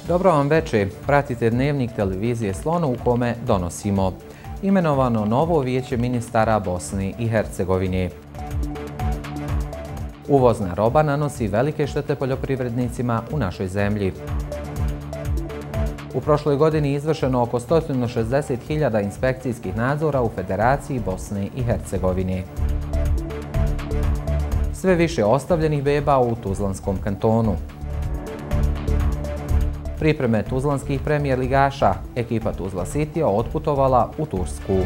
Dobro vam večer, pratite dnevnik televizije Slon u kome donosimo imenovano novo vijeće ministara Bosne i Hercegovine. Uvozna roba nanosi velike štete poljoprivrednicima u našoj zemlji. U prošloj godini izvršeno oko 160.000 inspekcijskih nadzora u Federaciji Bosne i Hercegovine. Sve više ostavljenih beba u Tuzlanskom kantonu. Pripreme tuzlanskih premijer ligaša, ekipa Tuzla Citya otputovala u Tursku.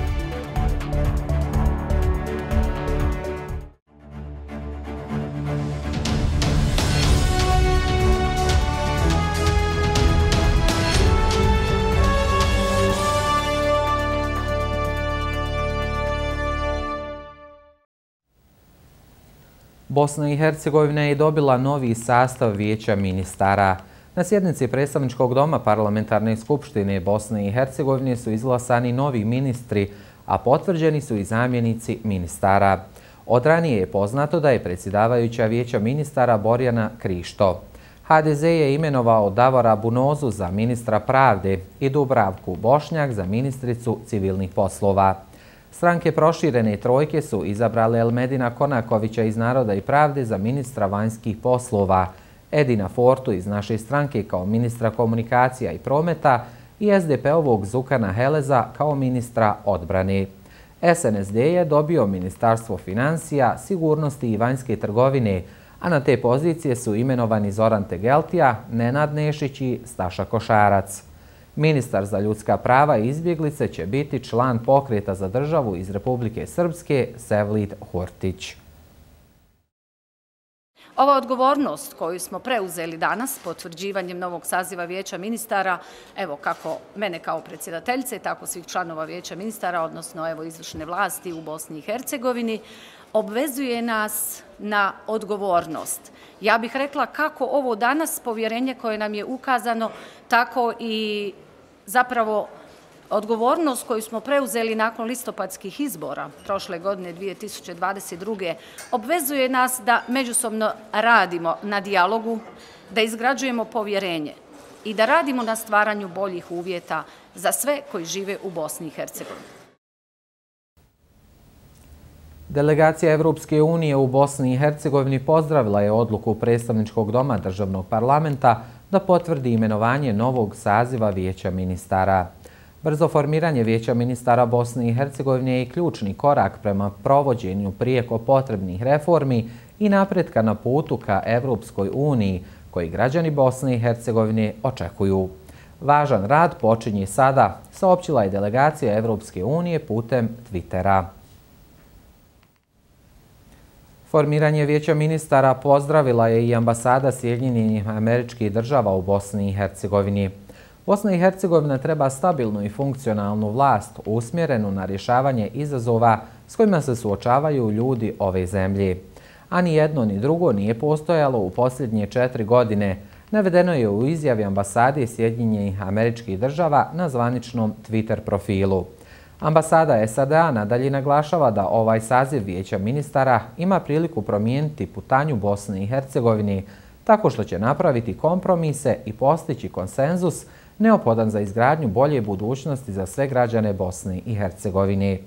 Bosna i Hercegovina je dobila novi sastav vijeća ministara. Na sjednici predstavničkog doma Parlamentarne skupštine Bosne i Hercegovine su izglasani novi ministri, a potvrđeni su i zamjenici ministara. Od ranije je poznato da je predsjedavajuća vijeća ministara Borjana Krišto. HDZ je imenovao Davora Bunozu za ministra pravde i Dubravku Bošnjak za ministricu civilnih poslova. Stranke proširene trojke su izabrale Elmedina Konakovića iz Naroda i pravde za ministra vanjskih poslova, Edina Fortu iz naše stranke kao ministra komunikacija i prometa i SDP-ovog Zukana Heleza kao ministra odbrane. SNSD je dobio Ministarstvo financija, sigurnosti i vanjske trgovine, a na te pozicije su imenovani Zoran Tegeltija, Nenad Nešić i Staša Košarac. Ministar za ljudska prava i izbjeglice će biti član Pokreta za državu iz Republike Srpske Sevlid Hurtić. Ova odgovornost koju smo preuzeli danas potvrđivanjem novog saziva vijeća ministara, evo kako mene kao predsjedateljice, tako svih članova vijeća ministara, odnosno izvršne vlasti u Bosni i Hercegovini, obvezuje nas na odgovornost. Ja bih rekla kako ovo danas povjerenje koje nam je ukazano, tako i zapravo odgovornost koju smo preuzeli nakon listopadskih izbora prošle godine 2022. obvezuje nas da međusobno radimo na dijalogu, da izgrađujemo povjerenje i da radimo na stvaranju boljih uvjeta za sve koji žive u Bosni i Hercegovini. Delegacija Evropske unije u Bosni i Hercegovini pozdravila je odluku predstavničkog doma državnog parlamenta da potvrdi imenovanje novog saziva vijeća ministara. Brzo formiranje vijeća ministara Bosne i Hercegovine je ključni korak prema provođenju prijeko potrebnih reformi i napretka na putu ka Evropskoj uniji, koji građani Bosne i Hercegovine očekuju. Važan rad počinje sada, saopćila je delegacija Evropske unije putem Twittera. Formiranje vijeća ministara pozdravila je i ambasada Sjedinjenih Američkih Država u Bosni i Hercegovini. Bosna i Hercegovina treba stabilnu i funkcionalnu vlast usmjerenu na rješavanje izazova s kojima se suočavaju ljudi ove zemlje. A ni jedno ni drugo nije postojalo u posljednje 4 godine, navedeno je u izjavi ambasade Sjedinjenih Američkih Država na zvaničnom Twitter profilu. Ambasada SAD-a nadalje naglašava da ovaj saziv vijeća ministara ima priliku promijeniti putanju Bosne i Hercegovine tako što će napraviti kompromise i postići konsenzus neophodan za izgradnju bolje budućnosti za sve građane Bosne i Hercegovine.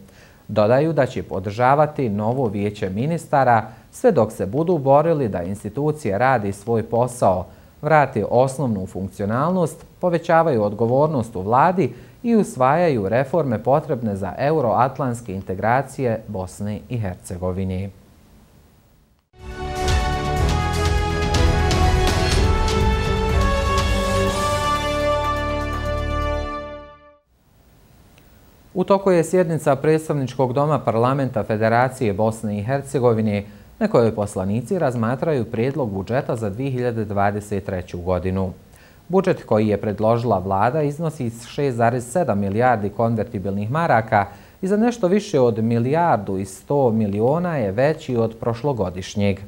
Dodaju da će podržavati novo vijeće ministara sve dok se budu borili da institucije radi svoj posao, vrate osnovnu funkcionalnost, povećavaju odgovornost u vladi i usvajaju reforme potrebne za euroatlantske integracije Bosne i Hercegovine. U toku je sjednica predstavničkog doma Parlamenta Federacije Bosne i Hercegovine na kojoj poslanici razmatraju prijedlog budžeta za 2023. godinu. Budžet koji je predložila vlada iznosi 6,7 milijardi konvertibilnih maraka i za nešto više od 1,1 milijardu je veći od prošlogodišnjeg.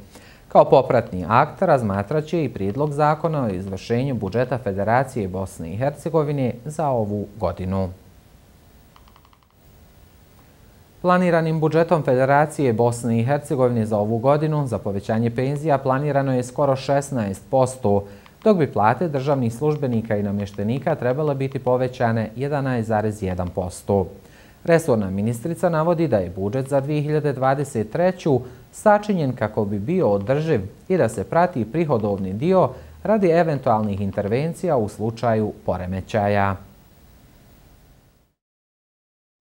Kao popratni akt razmatraće i prijedlog zakona o izvršenju budžeta Federacije Bosne i Hercegovine za ovu godinu. Planiranim budžetom Federacije Bosne i Hercegovine za ovu godinu za povećanje penzija planirano je skoro 16%, dok bi plate državnih službenika i namještenika trebale biti povećane 11,1%. Resorna ministrica navodi da je budžet za 2023. sačinjen kako bi bio održiv i da se prati prihodovni dio radi eventualnih intervencija u slučaju poremećaja.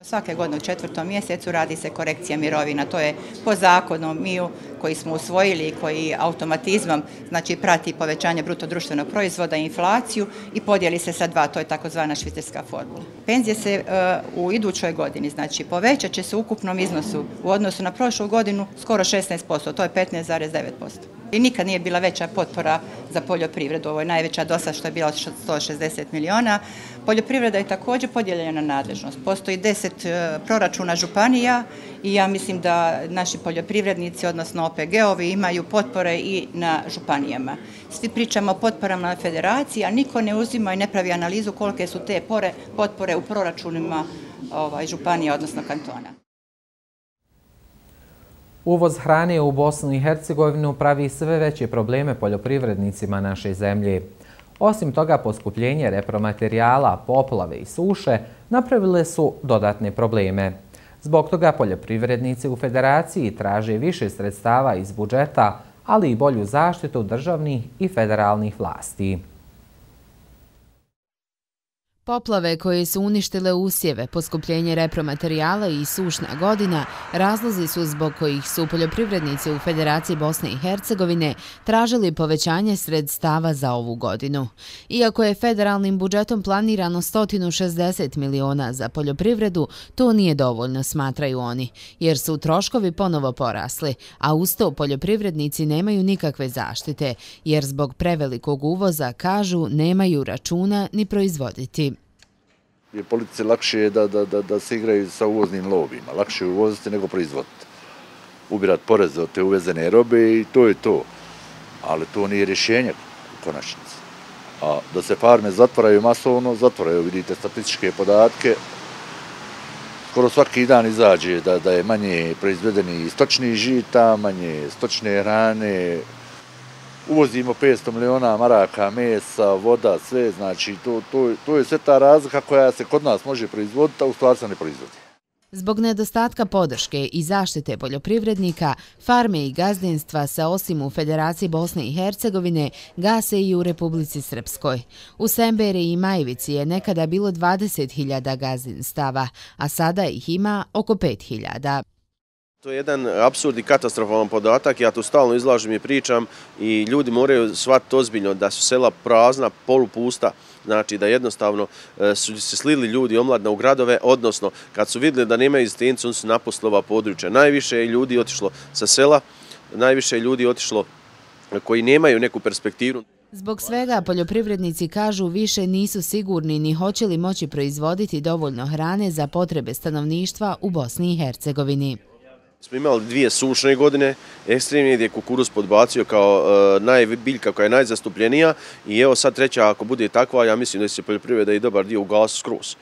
Svake godine u 4. mjesecu radi se korekcija mirovina. To je po zakonu MIU koji smo usvojili i koji automatizmom znači prati povećanje bruto društvenog proizvoda i inflaciju i podijeli se sa 2, to je takozvana švicarska formula. Penzije se u idućoj godini znači povećat će se u ukupnom iznosu u odnosu na prošlu godinu skoro 16%, to je 15,9%. I nikad nije bila veća potpora za poljoprivredu, ovo je najveća do sada što je bila 160 milijuna. Poljoprivreda je također podijeljena na nadležnost. Postoji 10 proračuna županija i ja mislim da naši poljoprivrednici, odnosno OPG-ovi, imaju potpore i na županijama. Svi pričamo o potporama na federaciji, a niko ne uzima i ne pravi analizu kolike su te potpore u proračunima županija, odnosno kantona. Uvoz hrane u Bosnu i Hercegovinu pravi sve veće probleme poljoprivrednicima naše zemlje. Osim toga, poskupljenje repromaterijala, poplave i suše napravile su dodatne probleme. Zbog toga poljoprivrednici u Federaciji traže više sredstava iz budžeta, ali i bolju zaštitu državnih i federalnih vlasti. Poplave koje su uništile usjeve, poskupljenje repromaterijala i sušna godina razlozi su zbog kojih su poljoprivrednici u Federaciji Bosne i Hercegovine tražili povećanje sredstava za ovu godinu. Iako je federalnim budžetom planirano 160 miliona za poljoprivredu, to nije dovoljno, smatraju oni, jer su troškovi ponovo porasli, a uz to poljoprivrednici nemaju nikakve zaštite, jer zbog prevelikog uvoza, kažu, nemaju računa ni proizvoditi. Je politici lakše da se igraju sa uvoznim lobijima. Lakše je uvoziti nego proizvoditi. Ubirati poreze od te uvezene robe i to je to. Ali to nije rješenje u konačnici. A da se farme zatvaraju masovno, zatvaraju, vidite statističke podatke. Skoro svaki dan izađe da je manje proizvedeni stočnih žita, manje stočne hrane. Uvozimo 500 miliona maraka, mesa, voda, sve, znači to je sve ta razlika koja se kod nas može proizvoditi, a u stvari se ne proizvodi. Zbog nedostatka podrške i zaštite poljoprivrednika, farme i gazdinstva se osim u Federaciji Bosne i Hercegovine gase i u Republici Srpskoj. U Semberi i Majevici je nekada bilo 20.000 gazdinstava, a sada ih ima oko 5.000. To je jedan apsurd i katastrofalan podatak, ja tu stalno izlažem i pričam i ljudi moraju shvatiti ozbiljno da su sela prazna, polupusta, znači da jednostavno su se slili ljudi omladna u gradove, odnosno kad su vidjeli da nemaju egzistenciju, oni su napustili ova područja. Najviše je ljudi otišlo sa sela, najviše je ljudi otišlo koji nemaju neku perspektivu. Zbog svega poljoprivrednici kažu više nisu sigurni ni hoće li moći proizvoditi dovoljno hrane za potrebe stanovništva u Bosni i Hercegovini. Smo imali 2 sušne godine, ekstremne gdje je kukuruz podbacio kao biljka koja je najzastupljenija i evo sad treća ako bude takva, ja mislim da će se poljoprivreda i dobar dio ugasiti skroz.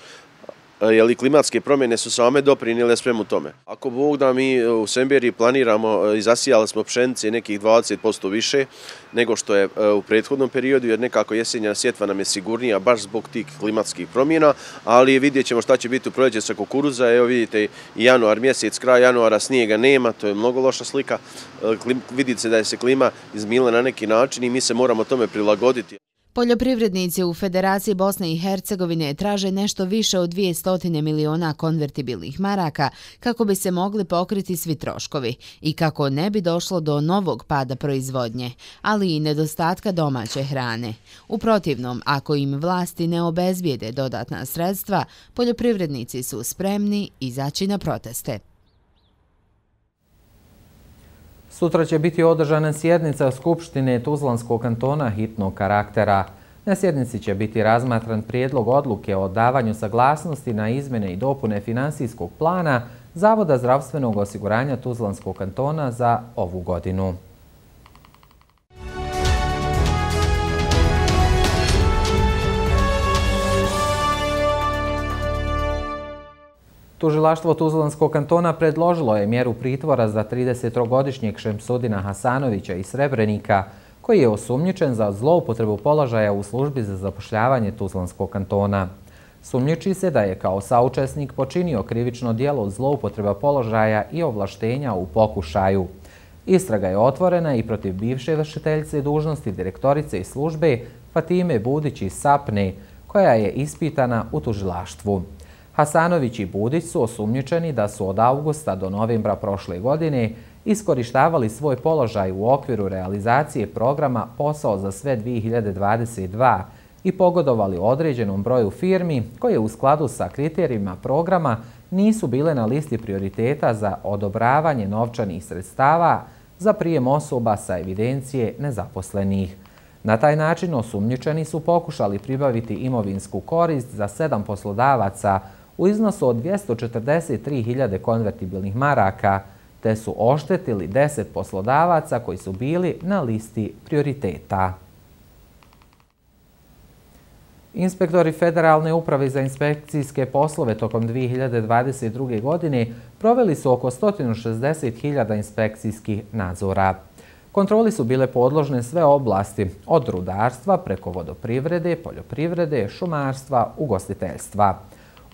Jer i klimatske promjene su same doprinijele svemu tome. Ako Bog da mi u Semberiji planiramo i zasijali smo pšenice nekih 20% više nego što je u prethodnom periodu, jer nekako jesenja sjetva nam je sigurnija baš zbog tih klimatskih promjena, ali vidjet ćemo šta će biti u proljeće sa kukuruza. Evo vidite i januar mjesec, kraj januara snijega nema, to je mnogo loša slika. Vidite se da je se klima izmila na neki način i mi se moramo tome prilagoditi. Poljoprivrednici u Federaciji Bosne i Hercegovine traže nešto više od 200 miliona konvertibilnih maraka kako bi se mogli pokriti svi troškovi i kako ne bi došlo do novog pada proizvodnje, ali i nedostatka domaće hrane. U protivnom, ako im vlasti ne obezbijede dodatna sredstva, poljoprivrednici su spremni izaći na proteste. Sutra će biti održana sjednica Skupštine Tuzlanskog kantona hitnog karaktera. Na sjednici će biti razmatran prijedlog odluke o davanju saglasnosti na izmjene i dopune finansijskog plana Zavoda zdravstvenog osiguranja Tuzlanskog kantona za ovu godinu. Tužilaštvo Tuzlanskog kantona predložilo je mjeru pritvora za 30-godišnjeg Šemsudina Hasanovića iz Srebrenika, koji je osumnjičen za zloupotrebu položaja u službi za zapošljavanje Tuzlanskog kantona. Sumnjiči se da je kao saučesnik počinio krivično djelo zloupotreba položaja i ovlaštenja u pokušaju. Istraga je otvorena i protiv bivše vršiteljice dužnosti direktorice iz službe Fatime Budić iz Sapne, koja je ispitana u tužilaštvu. Hasanović i Budić su osumnjičeni da su od avgusta do novembra prošle godine iskorištavali svoj položaj u okviru realizacije programa Posao za sve 2022 i pogodovali određenom broju firmi koje u skladu sa kriterijima programa nisu bile na listi prioriteta za odobravanje novčanih sredstava za prijem osoba sa evidencije nezaposlenih. Na taj način osumnjičeni su pokušali pribaviti imovinsku korist za 7 poslodavaca u iznosu od 243.000 konvertibilnih maraka, te su oštetili 10 poslodavaca koji su bili na listi prioriteta. Inspektori Federalne uprave za inspekcijske poslove tokom 2022. godine proveli su oko 160.000 inspekcijskih nadzora. Kontroli su bile podložne sve oblasti, od rudarstva preko vodoprivrede, poljoprivrede, šumarstva, ugostiteljstva.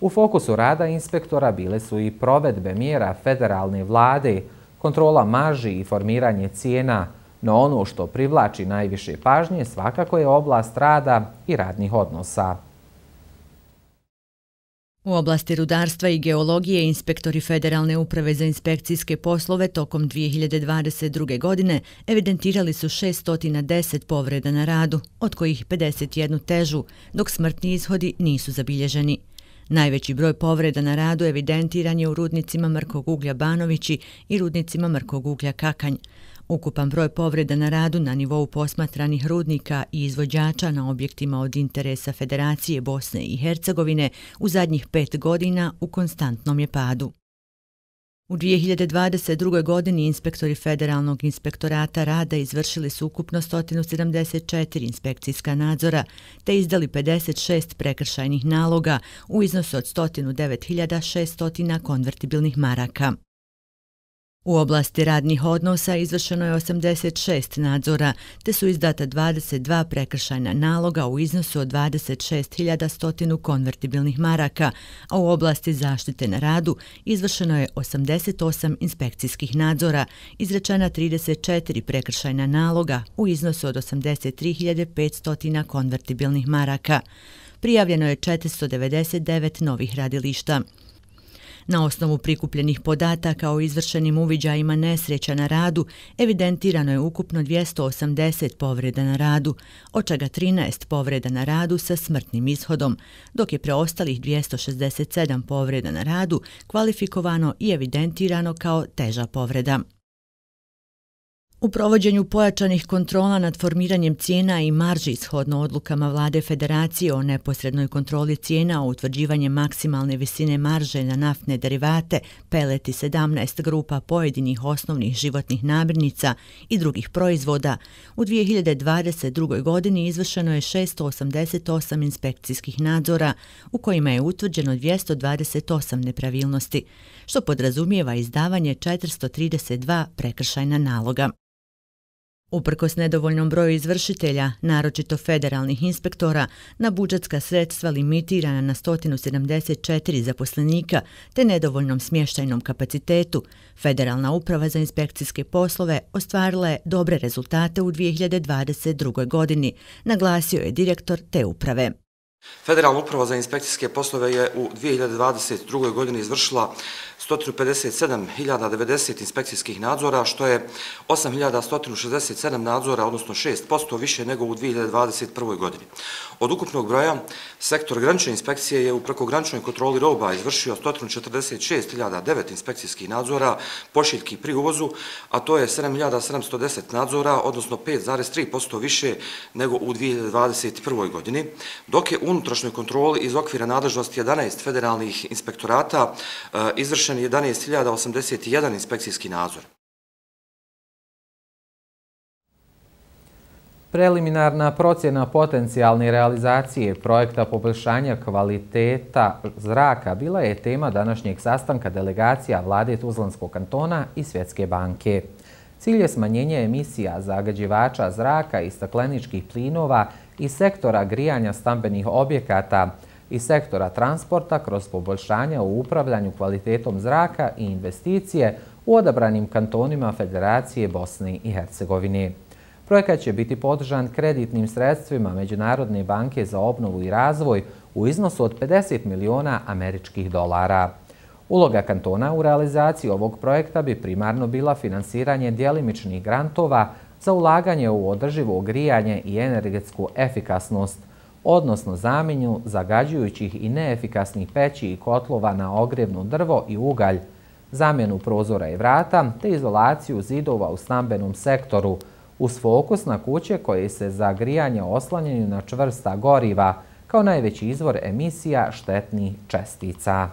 U fokusu rada inspektora bile su i provedbe mjera federalne vlade, kontrola marži i formiranje cijena, no ono što privlači najviše pažnje svakako je oblast rada i radnih odnosa. U oblasti rudarstva i geologije inspektori Federalne uprave za inspekcijske poslove tokom 2022. godine evidentirali su 610 povreda na radu, od kojih 51 težu, dok smrtni ishodi nisu zabilježeni. Najveći broj povreda na radu evidentiran je u rudnicima Mrkog uglja Banovići i rudnicima Mrkog uglja Kakanj. Ukupan broj povreda na radu na nivou posmatranih rudnika i izvođača na objektima od interesa Federacije Bosne i Hercegovine u zadnjih 5 godina u konstantnom je padu. U 2022. godini inspektori Federalnog inspektorata rada izvršili su ukupno 174 inspekcijska nadzora te izdali 56 prekršajnih naloga u iznosu od 109.600 konvertibilnih maraka. U oblasti radnih odnosa izvršeno je 86 nadzora, te su izdata 22 prekršajna naloga u iznosu od 26.100 konvertibilnih maraka, a u oblasti zaštite na radu izvršeno je 88 inspekcijskih nadzora, izrečena 34 prekršajna naloga u iznosu od 83.500 konvertibilnih maraka. Prijavljeno je 499 novih radilišta. Na osnovu prikupljenih podataka o izvršenim uviđajima nesreća na radu evidentirano je ukupno 280 povreda na radu, od čega 13 povreda na radu sa smrtnim ishodom, dok je preostalih 267 povreda na radu kvalifikovano i evidentirano kao teža povreda. U provođenju pojačanih kontrola nad formiranjem cijena i marži shodno odlukama Vlade Federacije o neposrednoj kontroli cijena o utvrđivanje maksimalne visine marže na naftne derivate, pelet i 17 grupa pojedinih osnovnih životnih namirnica i drugih proizvoda, u 2022. godini izvršeno je 688 inspekcijskih nadzora u kojima je utvrđeno 228 nepravilnosti, što podrazumijeva izdavanje 432 prekršajna naloga. Uprkos nedovoljnom broju izvršitelja, naročito federalnih inspektora, na budžetska sredstva limitirana na 174 zaposlenika te nedovoljnom smještajnom kapacitetu, Federalna uprava za inspekcijske poslove ostvarila je dobre rezultate u 2022. godini, naglasio je direktor te uprave. Federalna uprava za inspekcijske poslove je u 2022. godini izvršila 157.090 inspekcijskih nadzora, što je 8.167 nadzora, odnosno 6% više nego u 2021. godini. Od ukupnog broja, sektor granične inspekcije je u prekograničnoj kontroli roba izvršio 146.009 inspekcijskih nadzora pošiljki pri uvozu, a to je 7.710 nadzora, odnosno 5,3% više nego u 2021. godini, dok je u unutrašnjoj kontroli iz okvira nadležnosti 11 federalnih inspektorata izvršen 11.081 inspekcijski nadzor. Preliminarna procjena potencijalne realizacije projekta poboljšanja kvaliteta zraka bila je tema današnjeg sastanka delegacija Vlade Tuzlanskog kantona i Svjetske banke. Cilj je smanjenje emisija zagađivača zraka i stakleničkih plinova iz sektora grijanja stambenih objekata i sektora transporta kroz poboljšanja u upravljanju kvalitetom zraka i investicije u odabranim kantonima Federacije Bosne i Hercegovine. Projekat će biti podržan kreditnim sredstvima Međunarodne banke za obnovu i razvoj u iznosu od 50 miliona američkih dolara. Uloga kantona u realizaciji ovog projekta bi primarno bila finansiranje djelimičnih grantova za ulaganje u održivo grijanje i energetsku efikasnost, odnosno zamjenu zagađujućih i neefikasnih peći i kotlova na ogrjevno drvo i ugalj, zamjenu prozora i vrata te izolaciju zidova u stambenom sektoru, uz fokus na kuće koje se za grijanje oslanjaju na čvrsta goriva kao najveći izvor emisija štetnih čestica.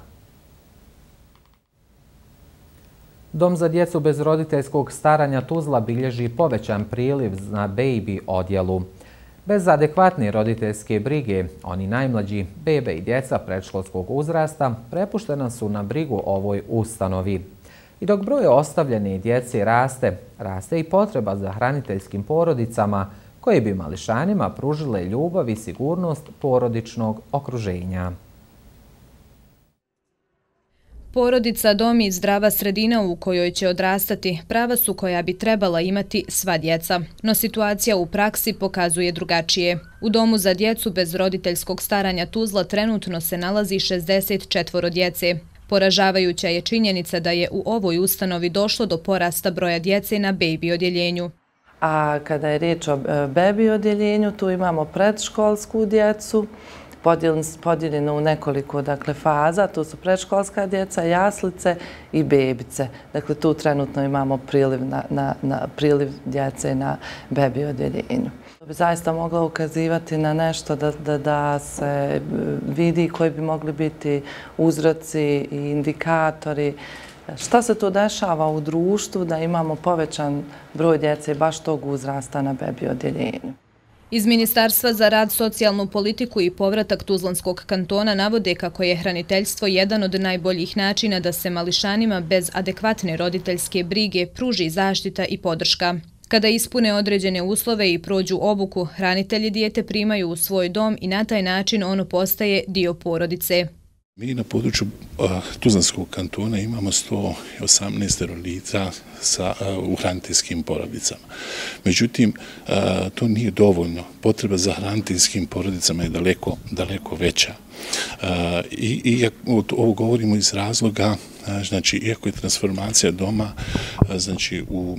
Dom za djecu bez roditeljskog staranja Tuzla bilježi povećan priliv na baby odjelu. Bez adekvatne roditeljske brige, oni najmlađi, bebe i djeca predškolskog uzrasta, prepuštena su na brigu ovoj ustanovi. I dok broj ostavljene djece raste i potreba za hraniteljskim porodicama koje bi mališanima pružile ljubav i sigurnost porodičnog okruženja. Porodica, dom i zdrava sredina u kojoj će odrastati prava su koja bi trebala imati sva djeca. No situacija u praksi pokazuje drugačije. U domu za djecu bez roditeljskog staranja Tuzla trenutno se nalazi 64 djece. Poražavajuća je činjenica da je u ovoj ustanovi došlo do porasta broja djece na baby odjeljenju. A kada je riječ o baby odjeljenju, tu imamo predškolsku djecu, podijeljeno u nekoliko faza. Tu su predškolska djeca, jaslice i bebice. Dakle, tu trenutno imamo priliv djece na baby odjeljenju. To bi zaista moglo ukazivati na nešto da se vidi koji bi mogli biti uzroci i indikatori. Šta se to dešava u društvu da imamo povećan broj djece baš tog uzrasta na baby odjeljenju? Iz Ministarstva za rad, socijalnu politiku i povratak Tuzlanskog kantona navode kako je hraniteljstvo jedan od najboljih načina da se mališanima bez adekvatne roditeljske brige pruži zaštita i podrška. Kada ispune određene uslove i prođu obuku, hranitelji dijete primaju u svoj dom i na taj način ono postaje dio porodice. Mi na području Tuzlanskog kantona imamo 118 lica u hraniteljskim porodicama. Međutim, to nije dovoljno. Potreba za hraniteljskim porodicama je daleko veća. I ovo govorimo iz razloga, znači, iako je transformacija doma u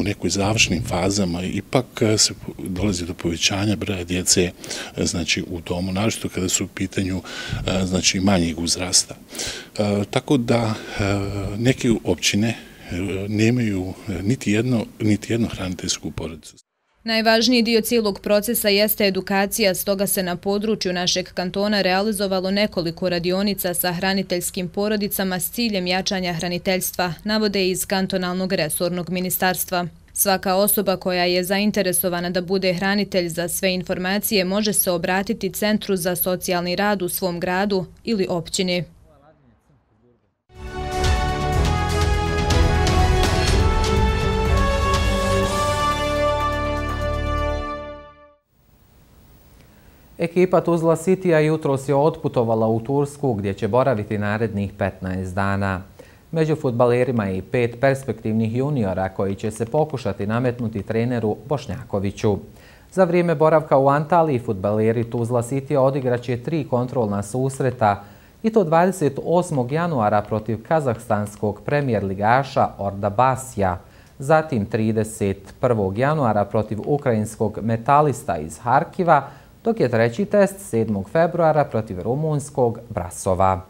nekoj završnim fazama, ipak se dolazi do povećanja broja djece u domu, naročito kada su u pitanju manjeg uzrasta. Tako da neke općine nemaju niti jednu hraniteljsku porodicu. Najvažniji dio cijelog procesa jeste edukacija, stoga se na području našeg kantona realizovalo nekoliko radionica sa hraniteljskim porodicama s ciljem jačanja hraniteljstva, navode iz kantonalnog resornog ministarstva. Svaka osoba koja je zainteresovana da bude hranitelj, za sve informacije može se obratiti Centru za socijalni rad u svom gradu ili općini. Ekipa Tuzla Citya jutros je otputovala u Tursku gdje će boraviti narednih 15 dana. Među fudbalerima je i 5 perspektivnih juniora koji će se pokušati nametnuti treneru Bošnjakoviću. Za vrijeme boravka u Antaliji fudbaleri Tuzla Citya odigraće 3 kontrolna susreta i to 28. januara protiv kazahstanskog premijer ligaša Ordabasija, zatim 31. januara protiv ukrajinskog Metalista iz Harkiva, dok je treći test 7. februara protiv rumunskog Brasova.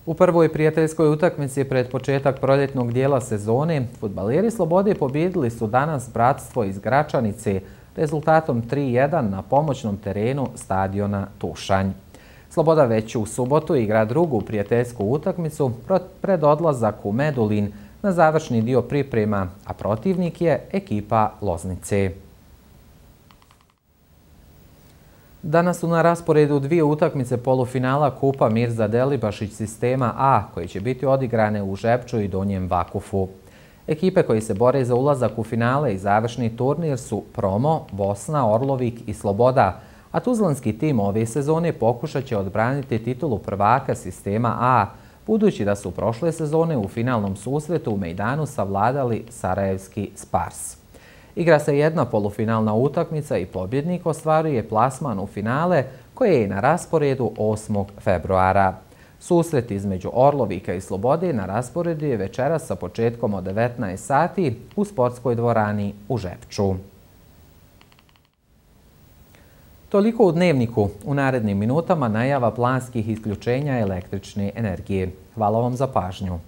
U prvoj prijateljskoj utakmici pred početak proljetnog dijela sezone, fudbaleri Slobode pobijedili su danas Bratstvo iz Gračanice rezultatom 3:1 na pomoćnom terenu stadiona Tušanj. Sloboda već u subotu igra drugu prijateljsku utakmicu pred odlazak u Medulin na završni dio priprema, a protivnik je ekipa Loznice. Danas su na rasporedu dvije utakmice polufinala Kupa Mirza Delibašić sistema A, koji će biti odigrane u Žepču i Donjem Vakufu. Ekipe koji se bore za ulazak u finale i završni turnir su Promo, Bosna, Orlovik i Sloboda, a tuzlanski tim ove sezone pokušat će odbraniti titulu prvaka sistema A, budući da su prošle sezone u finalnom susretu u Mejdanu savladali sarajevski Spars. Igra se jedna polufinalna utakmica i pobjednik ostvaruje plasman u finale koje je na rasporedu 8. februara. Susret između Orlovika i Slobode na rasporedu je večeras sa početkom od 19 sati u sportskoj dvorani u Žepču. Toliko u Dnevniku. U narednim minutama najava planskih isključenja električne energije. Hvala vam za pažnju.